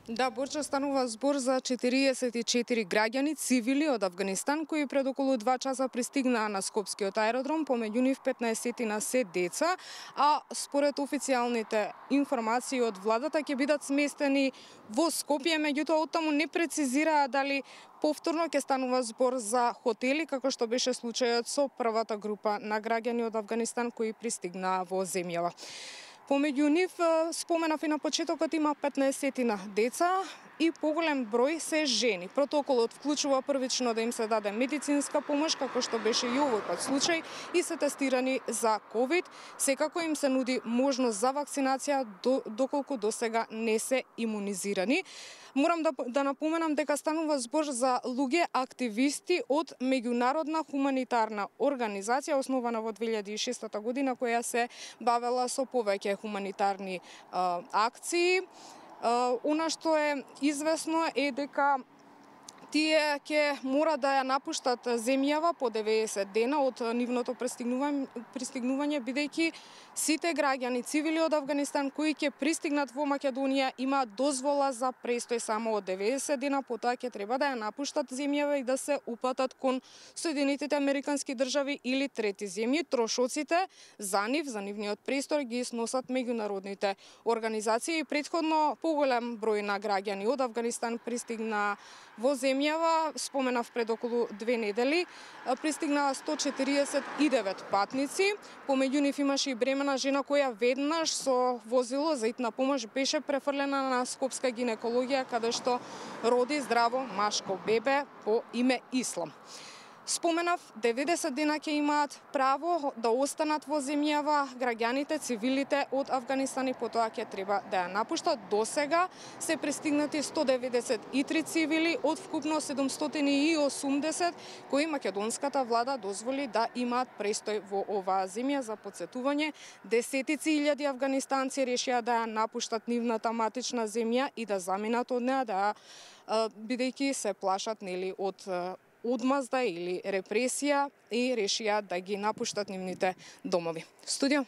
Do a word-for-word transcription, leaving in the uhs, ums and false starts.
Да, Борче, станува збор за четириесет и четири граѓани цивили од Авганистан кои пред околу два часа пристигнаа на Скопскиот аеродром, помеѓу нив петнаесет се деца, а според официјалните информации од владата ќе бидат сместени во Скопје, меѓутоа оттаму не прецизираа дали повторно ќе станува збор за хотели, како што беше случајот со првата група на граѓани од Авганистан кои пристигнаа во земјава. Помеѓу нив, споменав и на почетокот, има петнаесет деца и поголем број се жени. Протоколот вклучува првично да им се даде медицинска помош, како што беше и овој пат случај, и се тестирани за ковид. Секако им се нуди можност за вакцинација доколку досега не се имунизирани. Морам да, да напоменам дека станува збор за луѓе активисти од меѓународна хуманитарна организација основана во две илјади и шеста година, која се бавела со повеќе хуманитарни а, акции. А, она што е известно е дека тие ќе мора да ја напуштат земјава по деветдесет дена од нивното пристигнување, пристигнување бидејќи сите граѓани цивили од Авганистан кои ќе пристигнат во Македонија имаат дозвола за престој само од деветдесет дена, потоа ќе треба да ја напуштат земјава и да се упатат кон Соединетите Американски држави или трети земји. Трошоците за нив, за нивниот престор ги сносат меѓународните организации. Претходно поголем број на граѓани од Авганистан пристигна во земјава, споменав пред околу две недели, пристигнаа сто четириесет и девет патници, помеѓу нив имаше и бремена жена која веднаш со возило за итна помош беше префрлена на скопска гинекологија, каде што роди здраво машко бебе по име Ислам. Споменав, деветдесет дена ќе имаат право да останат во земјава граѓаните, цивилите од Авганистан и потоа ќе треба да ја напуштат. До сега се пристигнати сто деветдесет и три цивили од вкупно седумстотини и осумдесет кои македонската влада дозволи да имаат престој во оваа земја. За потсетување, десетици илјади авганистанци решија да ја напуштат нивната матична земја и да заминат од неа, да бидејќи се плашат нели од одмазда или репресија и решија да ги напуштат нивните домови. Студио.